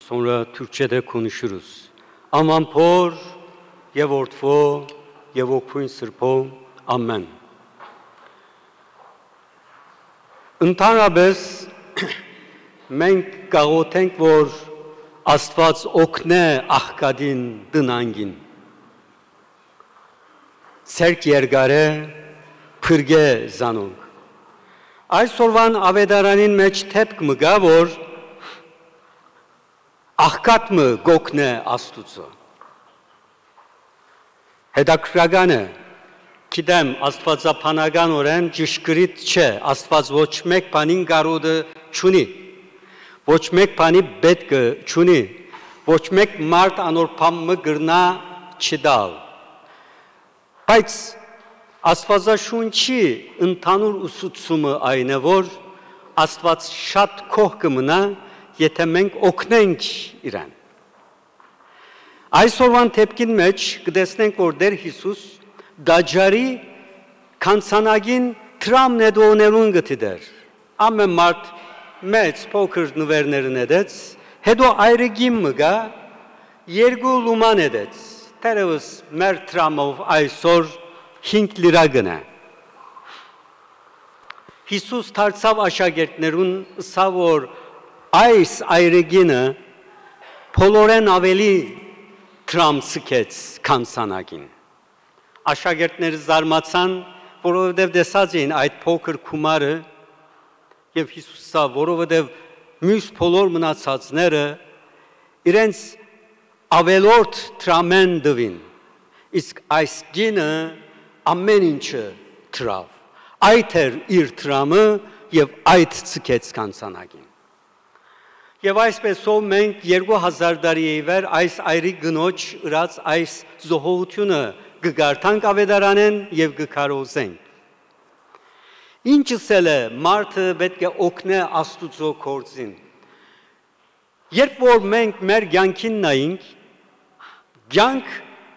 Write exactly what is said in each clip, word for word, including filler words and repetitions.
Sonra Türkçe'de konuşuruz. Aman Փոր եւ Որդւոյ եւ Հոգւոյն Սրբոյ։ Ամեն։ Ընդհանրապես մենք կաղոթենք, որ Աստված օգնէ աղքատին, տնայինին, ձեռք երկարէ, փրկէ զանոնք։ Այսօրուան աւետարանին մէջ դէպք մը կայ, որ աղքատ մը կ'օգնէ Աստուծոյ։ Հետաքրքրական է, գիտեմ, աստուածաբանականօրէն ճշգրիտ չէ, Աստուած ոչ մէկ բանին կարօտը չունի, ոչ մէկ բանի պէտքը չունի, ոչ մէկ մարդ անոր բան մը կրնայ չտալ։ Բայց Աստուածաշունչի ընդհանուր ուսուցումը այն է, որ Աստուած շատ գոհ կը մնայ, եթէ մենք օգնենք իրեն։ Այսօրուան դէպքին մէջ կը տեսնենք, որ Տէր Յիսուս տաճարի գանձանակին դրամ նետողներուն կը դիտէր։ Ամէն մարդ մեծ, փոքր նուէրները նետեց, հետո այրը կին մը գայ, երկու լումա նետեց, թերեւս մեր դրամով այսօր հինգ լիրա կ'ընէ։ Յիսուս դարձաւ աշակերտներուն, ըսաւ, որ այս այրը կինը բոլորէն աւելի դրամ ձգեց գանձանակին։ Աշակերտները զարմացան, որովհետեւ տեսած էին այդ փոքր գումարը, եւ Յիսուս ըսաւ, որովհետեւ միւս բոլոր մնացածները իրենց աւելորդ դրամէն տուին, իսկ այս կինը ամէն ինչը դրաւ։ Այդ էր իր դրամը եւ այդ ձգեց գանձանակին։ Եւ այսպէսով մենք երկու հազար տարի ի վեր այս այրի կնոջ ըրած այս զոհողութիւնը կը կարդանք աւետարանէն եւ կը քարոզենք։ Ինչ ըսել է, մարդը պէտք է օգնէ Աստուծոյ գործին։ Երբ որ մենք մեր կեանքին նայենք, կեանք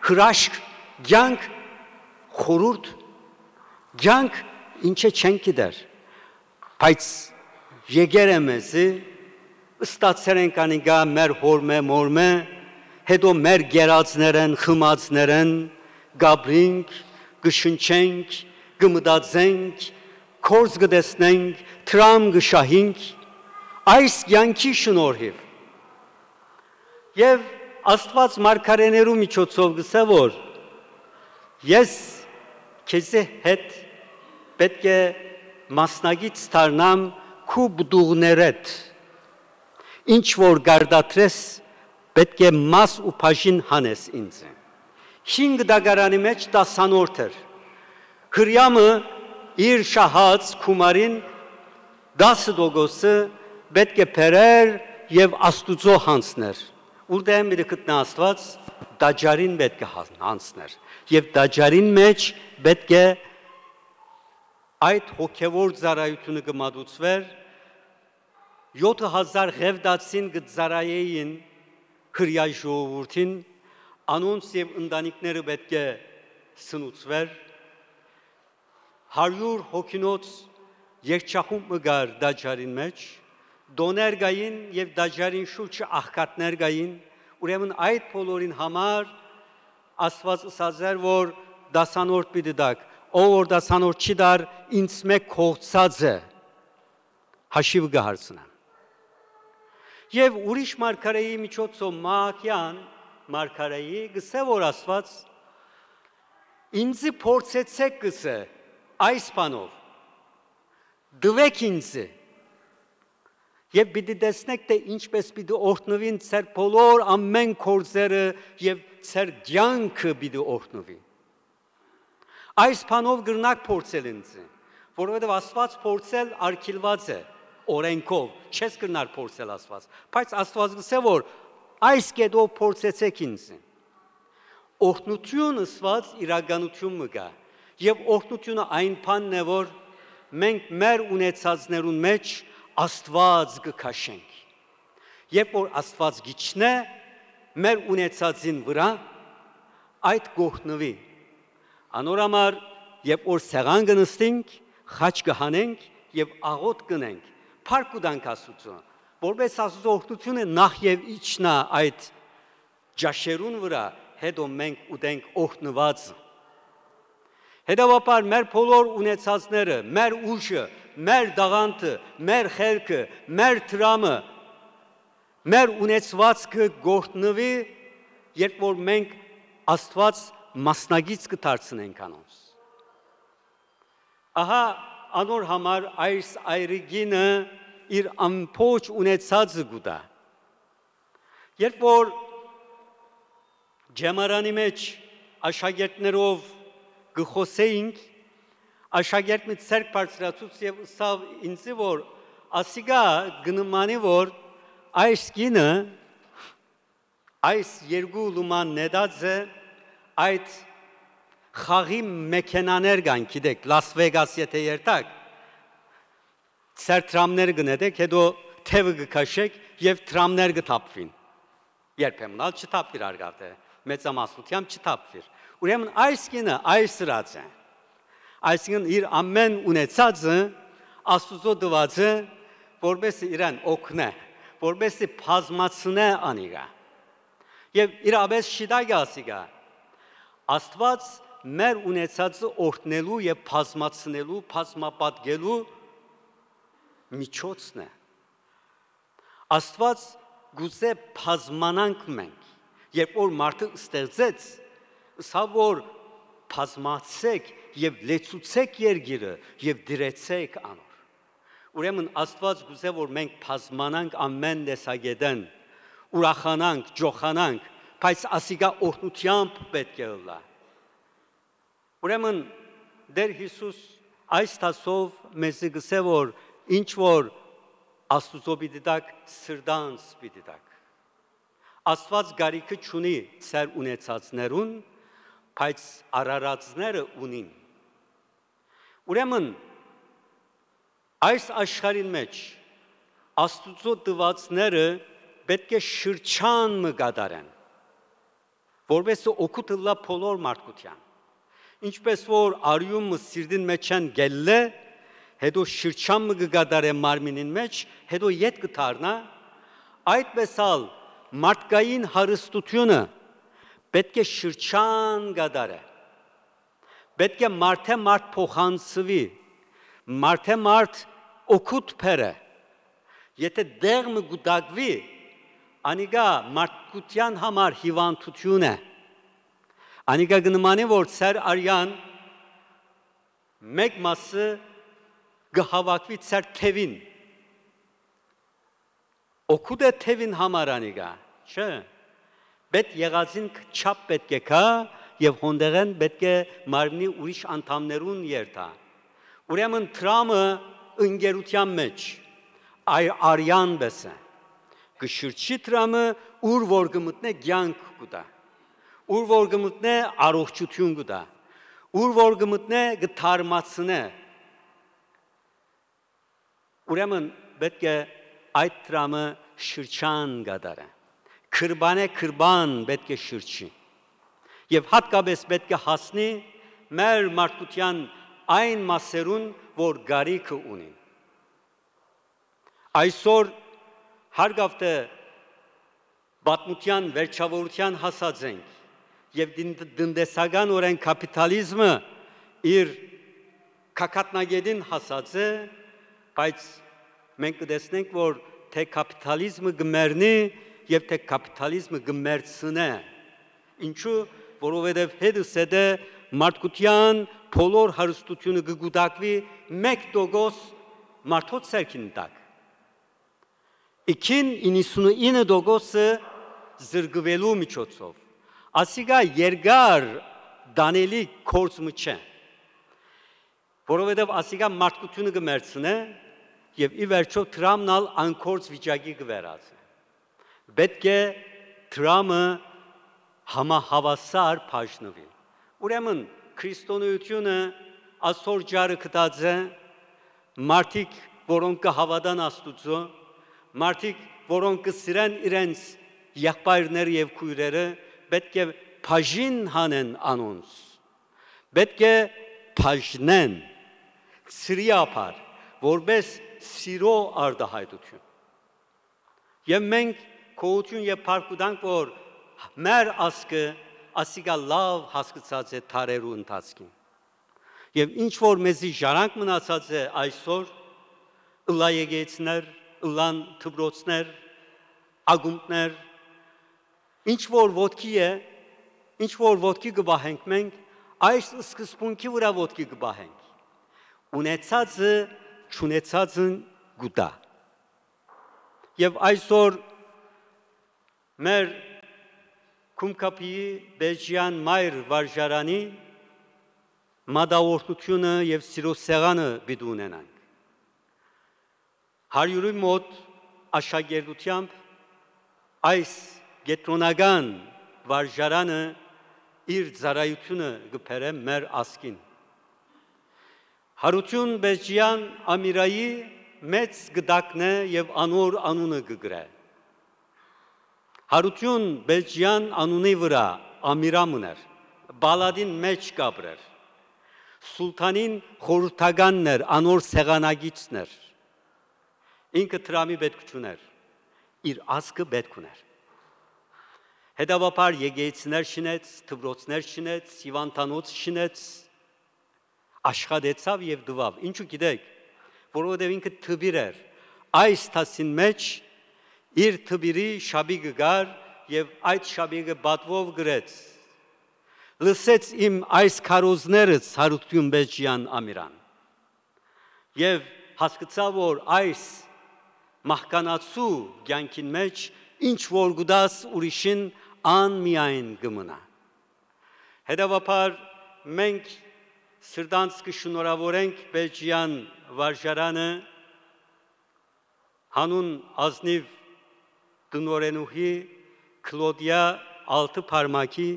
հրաշք, կեանք խորհուրդ, կեանք ինչը չենք գիտեր, բայց եկեր է մեզի, ստացեր ենք անիկա մեր հօրմէ, մօրմէ, հետո մեր գերածներէն, խմածներէն, կ'ապրինք, կը շնչենք, կը մտածենք, գործ կը տեսնենք, դրամ կը շահենք, այս կեանքի շնորհիւ։ Եւ Աստուած մարգարէներու միջոցով կ'ըսէ, որ ես քեզի հետ պէտք է մասնակից դառնամ քու պտուղներէդ, ինչ որ կարտադրես, պէտք է մաս ու բաժին հանես ինձ։ Հինգ տակարանի մէջ տասանորդ էր։ Հրեամը իր շահած գումարին տասը տոկոսը պէտք է բերեր եւ Աստուծոյ յանձներ։ Ուրդէն պիտի գտնայ Աստուած, տաճարին պէտք է յանձներ։ Եւ տաճարին մէջ պէտք է այդ հոգեւոր ծառայութիւնը կը մատուցուէր, յոթը հազար Ղեւտացին կը ծառայէին Հրեայ ժողովուրդին, անոնց եւ ընտանիքները պէտք է սնուցուէր, հարիւր հոգինոց երգչախումբ մը կար տաճարին մէջ, տոներ կային եւ տաճարին շուրջը աղքատներ կային, ուրեմն այդ բոլորին համար Աստուած ըսած էր, որ տասանորդ պիտի տաք, ով որ տասանորդ չի տար, ինձմէ կողցած է, հաշիվը կը հարցնեմ։ Եւ ուրիշ մարգարէի միջոցով Մահակեան մարգարէի կ'ըսէ, որ Աստուած ինձի փորձեցէք, կ'ըսէ, այս բանով, տուէք ինձի, եւ պիտի տեսնէք, թէ ինչպէս պիտի օրհնուին ձեր բոլոր ամէն գործերը եւ ձեր կեանքը պիտի օրհնուի։ Այս բանով կրնաք փորձել ինձ, որովհետեւ Աստուած փորձել արգիլուած է օրենքով, չես կրնար փորձել Աստուած, բայց Աստուած կ'ըսէ, որ այս կետով փորձեցէք ինձ։ Օրհնութիւն ըսուած իրականութիւն մը կայ, եւ օրհնութիւնը այն բանն է, որ մենք մեր ունեցածներուն մէջ Աստուած կը քաշենք։ Երբ որ Աստուած գիչնէ մեր ունեցածին վրայ, այդ կ'օրհնուի։ Անոր համար, երբ որ սեղան կը նստենք, խաչ կը հանենք եւ աղօթք կ'ընենք, փառք կու տանք Աստուծոյ, որպէս Աստուծոյ օրհնութիւնը նախ եւ իջնայ այդ ճաշերուն վրայ, հետո մենք ուտենք օրհնուածը։ Հետեւաբար մեր բոլոր ունեցածները, մեր ուժը, մեր տաղանդը, մեր խելքը, մեր դրամը, մեր ունեցուածքը կ'օրհնուի, երբ որ մենք Աստուած մասնակից կը դարձնենք անոնց։ Ահա անոր համար այս այրիկինը իր ամբողջ ունեցածը կու տայ։ Երբ որ ճեմարանի մէջ աշակերտներով կը խօսէինք, աշակերտ մը ձեռք բարձրացուց եւ ըսաւ ինձի, որ ասիկա կը նմանի, որ այս կինը այս երկու լուման նետած է այդ խաղի մեքենաներ կան, գիտեք, Լաս Վեգաս եթե երթաք, ձեր դրամներ կը նետեք, հետո թեւը կը քաշեք եւ դրամներ կը թափուին։ Երբեմն ալ չթափուիր արգավտը, մեծամասնությամբ չթափուիր։ Ուրեմն այս կինը այս ըրած է։ Այսինքն իր ամեն ունեցածը Աստուծոյ տուածը, որպեսզի իրեն օգնէ, որպեսզի բազմացնէ անիկա։ Եւ իրապէս շիտակ է ասիկա։ Աստուած մեր ունեցածը օրհնելու եւ բազմացնելու, բազմապատկելու միջոցն է։ Աստուած կ'ուզէ բազմանանք մենք, երբ որ մարդը ստեղծեց, ըսաւ որ բազմացեք եւ լեցուցեք երկիրը եւ դրեցեք անոր։ Ուրեմն Աստուած կ'ուզէ որ մենք բազմանանք ամեն տեսակետէն, ուրախանանք, ջոխանանք, բայց ասիկա օրհնութեամբ պէտք է ըլլայ։ Ուրեմն Տէր Յիսուս այս դասով մեզի կ'ըսէ որ ինչ որ Աստուծոյ պիտի տաք, սրտանց պիտի տաք։ Աստուած կարիքը չունի ձեր ունեցածներուն, բայց արարածները ունին։ Ուրեմն այս աշխարհին մէջ Աստուծոյ տուածները պէտք է շրջան մը կատարեն, որպեսզի օգուտ ըլլայ բոլոր մարդկութեան։ Ինչպէս որ արիուն մը սիրտին մէջէն կ'ելլէ, հետո շրջան մը կը կատարէ մարմինին մէջ, հետո ետ կը դառնայ, այդպէս ալ մարդկային հարստութիւնը պէտք է շրջան կատարէ։ Պէտք է մարդէ մարդ փոխանցուի, մարդէ մարդ օգուտ բերէ։ Եթե տեղ մը կուտակուի, անիկա մարդկութեան համար հիւանդութիւն է։ Անիկա կը նմանի որ ձեր արեան մէկ մասը կը հաւաքուի ձեր թեւին։ Օգուտ է թեւին համար անիկա, չէ՞։ Պէտ եղածին չափ պէտք է գայ եւ հոնդեղէն պէտք է մարմնի ուրիշ անդամներուն երթայ։ Ուրեմն դրամը ընկերութեան մէջ այ արեան պէս է։ Կը շրջի դրամը, ուր որ կը մտնէ կեանք կու տայ, ուր որ կը մտնէ առողջութիւն կու տայ, ուր որ կը մտնէ կը թարմացնէ։ Ուրեմն պէտք է այդ դրամը շրջան կատարէ։ Քրբանէ քրբան պէտք է շրջի։ Եւ հատկապէս պէտք է հասնի մեր մարդկութեան այն մասերուն, որ կարիքը ունին։ Այսօր հարգավտը պատմութեան վերջաւորութեան հասած ենք եւ դին-, տնտեսական օրէն կապիտալիզմը իր կակատնագետին հասած է, բայց մենք կը տեսնենք որ թե կապիտալիզմը կը մեռնի եւ թե կապիտալիզմը կը մեռցնէ։ Ինչու, որովհետեւ հետս հետը մարդկութեան բոլոր հարստությունը կը կուտակուի մէկ տոկոս մարդոց ձեռքին տակ, իքին իննսունինը տոկոսը զրկուելու միջոցով։ Ասիկա երկար տանելի գործ մը չէ, որովհետեւ ասիկա մարդկութիւնը կը մեռցնէ եւ ի վերջոյ դրամն ալ անկորձ վիճակի կը վերածէ։ Պէտք է դրամը համահաւասար բաժնուի։ Ուրեմն քրիստոնեությունը ասոր ճառը գտած է, մարդիկ որոնք կը հաւատան Աստուծոյ, մարդիկ որոնք կը սիրեն իրենց եղբայրները եւ քոյրերը, պէտք է բաժին հանեն անոնց, պէտք է բաժնեն, սիրի ափար, որպէս սիրո արտահայտութիւն։ Եւ մենք գոհութիւն եւ փառք կու տանք, որ մեր ազգը ասիկա լաւ հասկցած է դարերու ընթացքին։ Եւ ինչ որ մեզի ժառանգ մնացած է այսօր, ըլլայ եկեցներ, ըլլան դպրոցներ, ակումբներ, ինչ որ ոտքի է, ինչ որ ոտքի կը պահենք մենք, այս սկզբունքի վրայ ոտքի կը պահենք։ Ունեցածը չունեցածն կու տայ։ Եւ այսօր մեր Քումքապիի Պէջեան մայր վարժարանի մատաղորդութիւնը եւ սիրո սեղանը պիտի ունենանք։ Հարիւրի մօտ աշակերտութեամբ այս կեդրոնական վարժարանը իր ծառայութիւնը կը բերէ մեր ազգին։ Յարութիւն Պէջեան Ամիրայի մեծ կտակն է եւ անոր անունը կը կրէ։ Յարութիւն Պէջեան անունի վրայ Ամիրա մըն էր, պալատին մէջ կ'ապրէր։ Սուլթանին խորհրդականն էր, անոր սեղանակիցն էր։ Ինքը դրամի պէտք չունէր, իր ազգը պէտք ունէր։ Հետեւաբար եկեղեցիներ շինեց, դպրոցներ շինեց, հիւանդանոց շինեց, աշխատեցաւ եւ տուաւ։ Ինչու՞ գիտեք, որովհետեւ ինքը դպիր էր։ Այս դասին մէջ իր դպիրի շապիկը կար եւ այդ շապիկը պատուով գրեց. «Լսեց իմ այս քարոզներս, Յարութիւն Պէջեան Ամիրան, եւ հասկցայ, որ այս մահկանացու կեանքին մէջ ինչ որ կու տաս ուրիշին, ան միայն կը մնայ»։ Հետեւաբար մենք սրտանց կը շնորհաւորենք Պէջեան վարժարանը, յանուն ազնիւ տնօրէնուհի Կլոդիա Ալթը Փարմակի,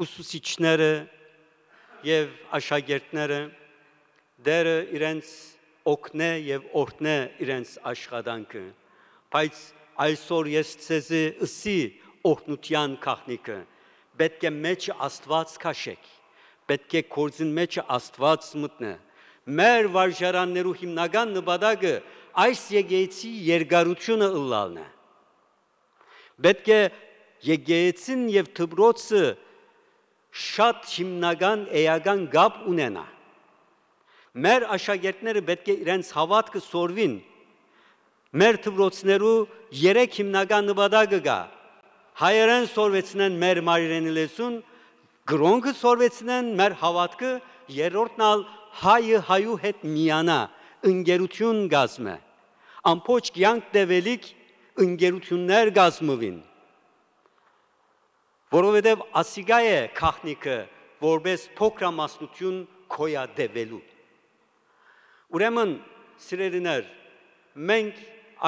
ուսուցիչները եւ աշակերտները, Տէրը իրենց օգնէ եւ օրհնէ իրենց աշխատանքը, բայց այսօր ես ձեզի ըսի օրհնութեան գաղտնիքը. պէտք է մէջը Աստուած քաշեք, պէտք է գործին մէջը Աստուած մտնէ։ Մեր վարժարաններու հիմնական նպատակը այս եկեղեցի երկարութիւնը ըլլալն է։ Պէտք է եկեղեցին եւ դպրոցը շատ հիմնական էական կապ ունենայ։ Մեր աշակերտները պէտք է իրենց հաւատքը սորվին։ Մեր դպրոցներու երեք հիմնական նպատակը կայ. հայերէն սորվեցնեն մեր մայրենի լեզուն, կրօնքը սորվեցնեն մեր հաւատքը, երրորդն ալ հայը հայու հետ միանայ, ընկերութիւն կազմէ, ամբողջ կեանք տեւելիք ընկերութիւններ կազմուին, որովհետեւ ասիկա է գաղտնիքը, որպէս փոքրամասնութիւն գոյատեւելու։ Ուրեմն, սիրելիներ, մենք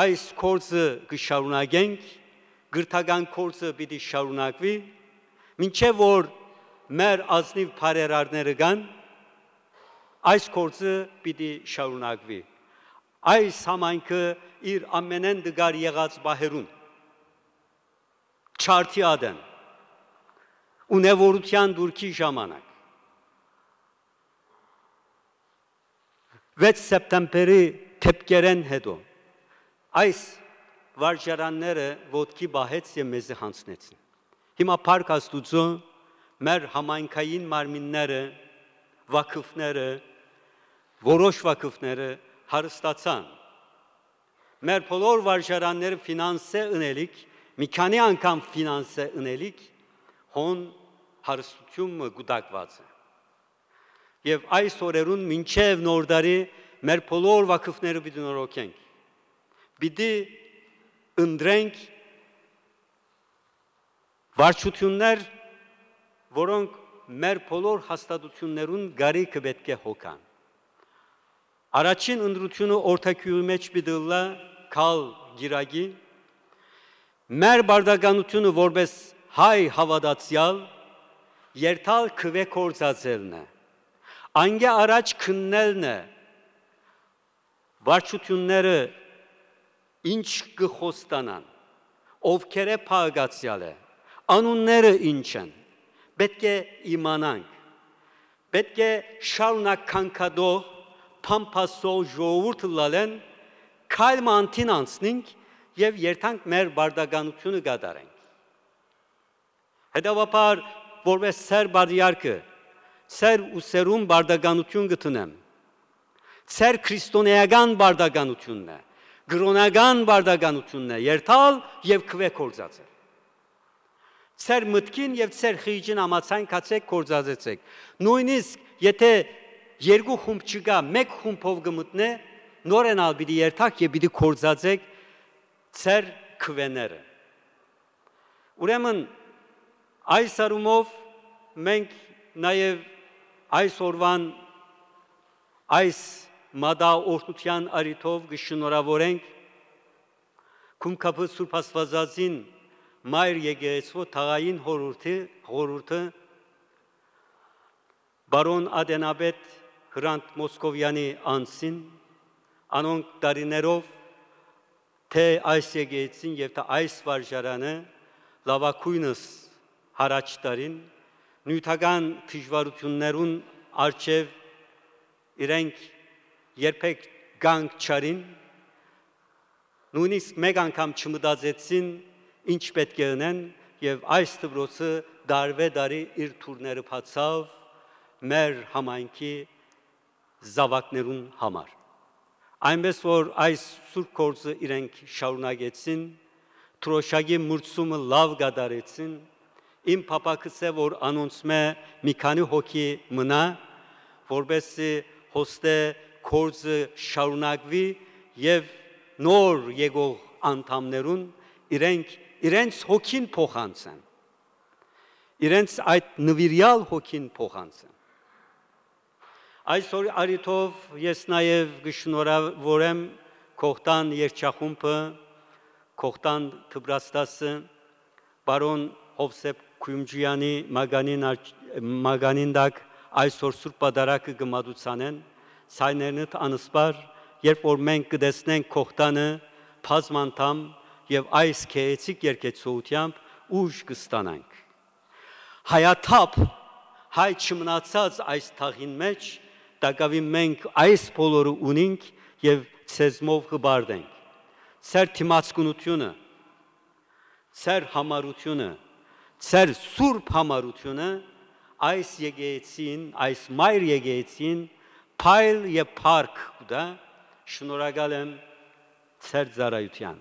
այս գործը կը շարունակենք, կրթական գործը պիտի շարունակուի, մինչեւ որ մեր ազնիւ բարերարները կան, այս գործը պիտի շարունակուի։ Այս համայնքը իր ամենէն տկար եղած պահերուն, չարդի ատեն, ունեւորութեան դուրքի ժամանակ, վեց սեպտեմբերի դէպքերէն յետոյ, այս վարժարանները ոտքի պահեց եւ մեզի յանձնեցին։ Հիմա փառք Աստուծոյ, մեր համայնքային մարմինները, վաքֆները, որոշ վաքֆները հարստացան։ Մեր բոլոր վարժարանները ֆինանսէ ընելիք, մի քանի անգամ ֆինանսէ ընելիք, հոն հարստութիւն մը կուտակուած է։ Եւ այս օրերուն մինչեւ Նոր տարի մեր բոլոր վաքֆները պիտի նորոգենք։ Պիտի ընտրենք վարչութիւններ, որոնք մեր բոլոր հաստատութիւններուն կարիքը պէտք է հոգան։ Առաջին ընտրութիւնը Օրթագիւղի մէջ պիտի ըլլայ Քալ Գիրակի։ Մեր պարտականութիւնը որպէս հայ հաւատացեալ, երթալ քուէ գործածելն է, անկէ առաջ քննելն է, վարչութիւնները ինչ կը խոստանան, ովքերէ փաղկացեալ է, անունները ինչ են, պէտք է իմանանք։ Պէտք է շարունակ քանքատող, փամփասող ժողովուրդ ըլլալէն, քայլ մը անդին անցնենք եւ երթանք մեր պարտականութիւնը կատարենք։ Հետեւաբար, որպէս Սեր Պատրիարքը, Սեր ու Սերուն պարտականութիւն կը դնեմ։ Սեր քրիստոնէական պարտականութիւնն է, կրօնական պարտականութիւնն է, երթալ եւ քուէ գործածել։ Ձեր մտքին եւ ձեր խիղճին համաձայն գացէք, գործածեցէք։ Նոյնիսկ եթէ երկու խումբ չկայ, մէկ խումբով կը մտնէ, նորէն ալ պիտի երթաք եւ պիտի գործածէք ձեր քուէները։ Ուրեմն, այս առումով մենք նաեւ այս օրուան այս մատաղ օրհնութեան առիթով կը շնորհաւորենք Գումքափի Սուրբ Աստուածածին Մայր Եկեղեցւոյ թաղային խորհուրդի, խորհուրդը պարոն ատենապետ Հրանդ Մոսկովեանի անձին, անոնք տարիներով թէ այս եկեղեցին եւ թէ այս վարժարանը լաւագոյնս յառաջ տարին, նիւթական դժուարութիւններուն առջեւ իրենք երբեք կանգ չառին, նոյնիսկ մէկ անգամ չմտածեցին ինչ պէտք է ընեն, եւ այս դպրոցը տարուէ տարի իր դուռները բացաւ մեր համայնքի զաւակներուն համար։ Այնպէս որ այս սուրբ գործը իրենք շարունակեցին, դրոշակի մուրցումը լաւ կատարեցին, իմ փափաքս է, որ անոնցմէ մի քանի հոգի մնայ, որպէսզի հոստէ գործը շարունակուի եւ նոր եկող անդամներուն իրենք իրենց հոգին փոխանցեն, իրենց այդ նուիրեալ հոգին փոխանցեն։ Այսօր առիթով ես նաեւ կը շնորհաւորեմ Կողտան երգչախումբը, Կողտան դպրաստասը, պարոն Հովսեփ Քոյումջեանի մագանին առ-, մագանին տակ այսօր Սուրբ Պատարագը կը մատուցանեն, ցայներնդ անսպառ, երբ որ մենք կը տեսնենք Կողտանը բազմանդամ եւ այս գեղեցիկ երգեցողութեամբ ուժ կը ստանանք։ Հայաթափ, հայ չմնացած այս թաղին մէջ, տակաւին մենք այս բոլորը ունինք եւ ձեզմով հպարտ ենք։ Ձեր դիմացկունութիւնը, ձեր յամառութիւնը, ձեր սուրբ յամառութիւնը այս եկեղեցին, այս մայր եկեղեցին փայլ եւ փառք կու տայ, շնորհակալ եմ ձեր ծառայութեան։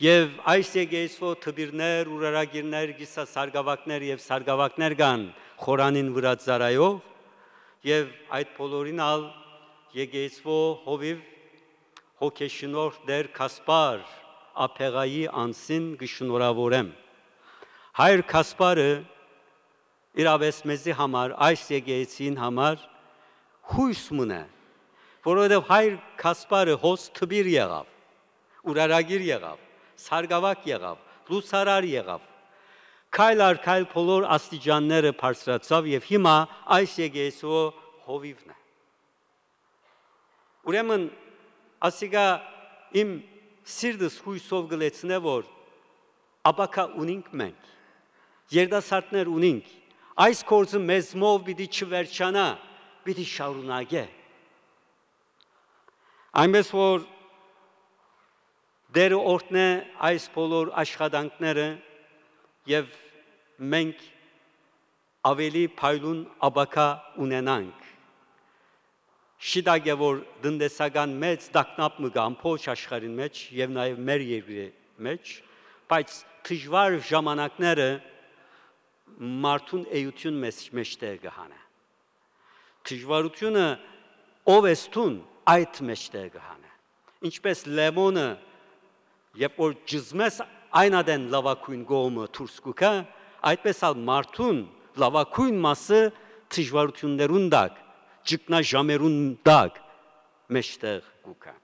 Եւ այս եկեղեցւոյ դպիրներ, ուրարագիրներ, կիսասարգաւակներ եւ սարգաւակներ կան խորանին վրայ ծառայող, եւ այդ բոլորին ալ եկեղեցւոյ հովիւ հոգեշնորհ Տէր Գասպար Աբեղայի անձին կը շնորհաւորեմ։ Հայր Գասպարը իրապէս մեզի համար, այս եկեղեցին համար յոյս մըն է, որովհետեւ հայր Գասպարը հոս դպիր եղաւ, ուրարագիր եղաւ, սարգաւակ եղաւ, լուսարար եղաւ, քայլ առ քայլ բոլոր աստիճանները բարձրացաւ եւ հիմա այս եկեղեցու հովիւն է։ Ուրեմն, ասիկա իմ սիրտս յոյսով կը լեցնէ, որ ապագայ ունինք մենք, երիտասարդներ ունինք, այս գործը մեզմով պիտի չվերջանայ, պիտի շարունակէ։ Այնպէս որ Տէրը օրհնէ այս բոլոր աշխատանքները եւ մենք աւելի փայլուն ապագայ ունենանք։ Շիտակ է, որ տնտեսական մեծ տագնապ մը կայ ամբողջ աշխարհին մէջ եւ նաեւ մեր երկրի մէջ, բայց դժուար ժամանակները մարդուն էութիւն մեզ, մեջտեղ կը հանէ։ Դժուարութիւնը ով ես դուն, այդ մեջտեղ կը հանէ։ Ինչպէս լեմոնը, երբ որ ճզմես, այն ատեն լաւագոյն կողմը դուրս կու գայ, այդպէս ալ մարդուն լաւագոյն մասը դժուարութիւններուն տակ, ճգնաժամերուն տակ մեջտեղ կու գայ։